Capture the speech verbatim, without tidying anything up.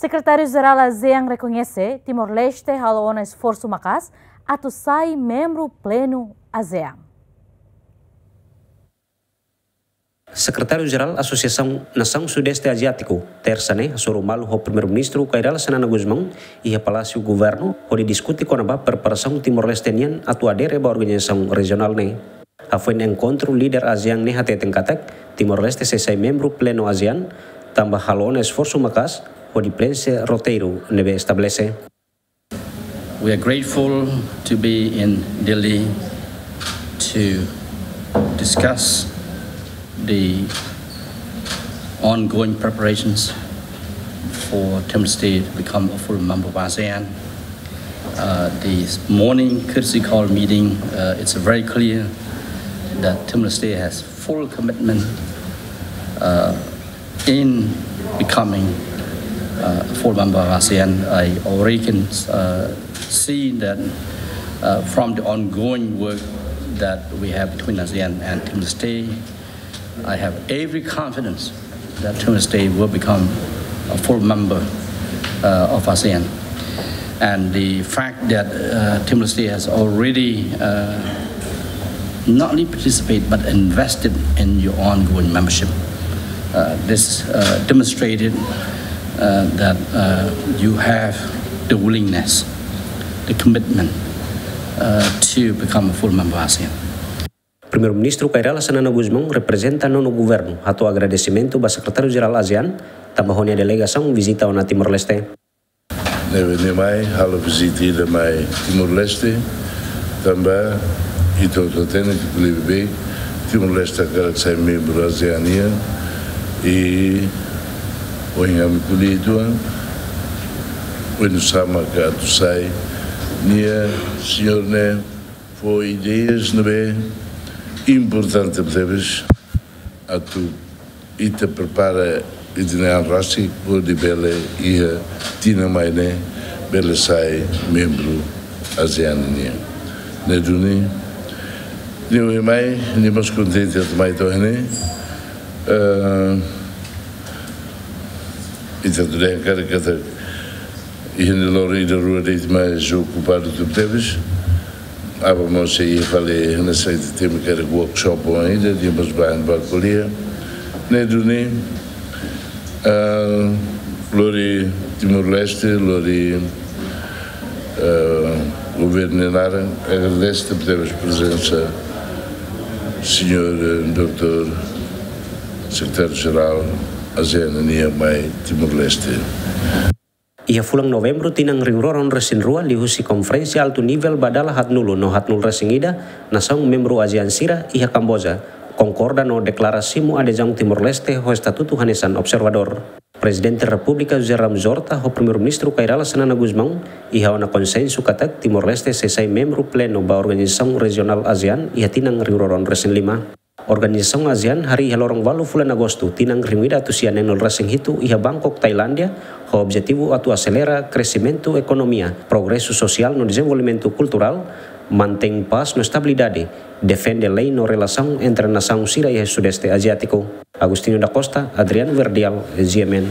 Sekretáriu-Jerál ASEAN rekoñese Timor-Leste halo ona esforsu maka'as atu sai membru plenu ASEAN. Sekretáriu-Jerál Asosiasaun Nasaun Sudeste Aziátiku, Tersa ne'e, hasoru malu ho Primeiru-Ministru Kay Rala Xanana Gusmão iha Palásiu Governu, hodi diskute kona-ba preparasaun Timor-Leste nian atu adere ba organizasaun rejionál ne'e. Hafoin enkontru, líder ASEAN ne'e hateten katak Timor-Leste sei sai membru plenu ASEAN, tanba halo ona esforsu maka'as hodi preenxe roteiru ne'ebé estabelese. We are grateful to be in Delhi to discuss the ongoing preparations for Timor-Leste to become a full member of ASEAN. Uh, this morning courtesy call meeting, uh, it's very clear that Timor-Leste has full commitment, uh, in becoming, uh, a full member of ASEAN. I already can, uh, see that, uh, from the ongoing work that we have between ASEAN and Timor-Leste, I have every confidence that Timor-Leste will become a full member, uh, of ASEAN. And the fact that, uh, Timor-Leste has already, uh, not only participate but invested in your ongoing membership, uh, this, uh, demonstrated, uh, that, uh, you have the willingness, the commitment, uh, to become a full member of ASEAN. Primeiru-Ministru Kay Rala Xanana Gusmão reprezenta nonu governu hato'o agradesimentu ba Sekretáriu-Jerál ASEAN, tanba ho nia delegasaun vizita ona Timor-Leste. Ne'ebé nia mai halo vizita ida mai Timor-Leste, tanba ita hotu hatene katak liuliu Timor-Leste hakarak sai membru ASEAN nian, i ohin ami ko'alia uitoan, oinsá mak atu sai, nia, señór ne'e fó ideias ne'ebé importante tebes atu ita prepara ita-nia an rasik hodi bele iha tinan mai ne'e bele sai membru ASEAN nian. Ne'e duni, nia ohin mai, nia mós kontente atu mai to'o ne'e. Eh, ita atu dehan karik katak iha ne'e loron ida rua de'it, mais okupadu tebetebes. Aban mós sei iha fali hanesan ita temi karik workshop oan ida, nia mós bá ba ko'alia. Ne'e duni, ah, lori Timor-Leste, lori, ah, governu nia naran, agradese tebetebes prezensa señór, eh, doutór Sekretáriu-Jerál ASEAN nian mai Timor-Leste. Iha fulan Novembru tinan rihun rua ruanulu-resin-rua, liuhusi konferénsia altu nivel ba dala haatnulu no haatnulu-resin-ida, nasaun membru ASEAN sira iha Kamboja konkorda no deklara simu adezaun Timor-Leste ho estatutu hanesan observadór. Prezidente Repúblika José Ramos Horta ho Primeiru-Ministru Kay Rala Xanana Gusmão iha ona konsensu katak Timor-Leste sei sai membru plenu ba organizasaun rejionál ASEAN iha tinan rihun rua ruanulu-resin-lima. Organizasaun ASEAN harii iha loron ualu fulan Agostu tinan rihun ida atus sia neenulu-resin-hitu iha Bangkok, Tailándia, ho objetivu atu aselera kresimentu ekonomia, progresu sosiál no dezenvolvimentu kulturál, mantein pás no estabilidade, defende lei no relasaun entre nasaun sira iha Sudeste Aziátiku. Agostinho da Costa, Adriano Verdial, G M N.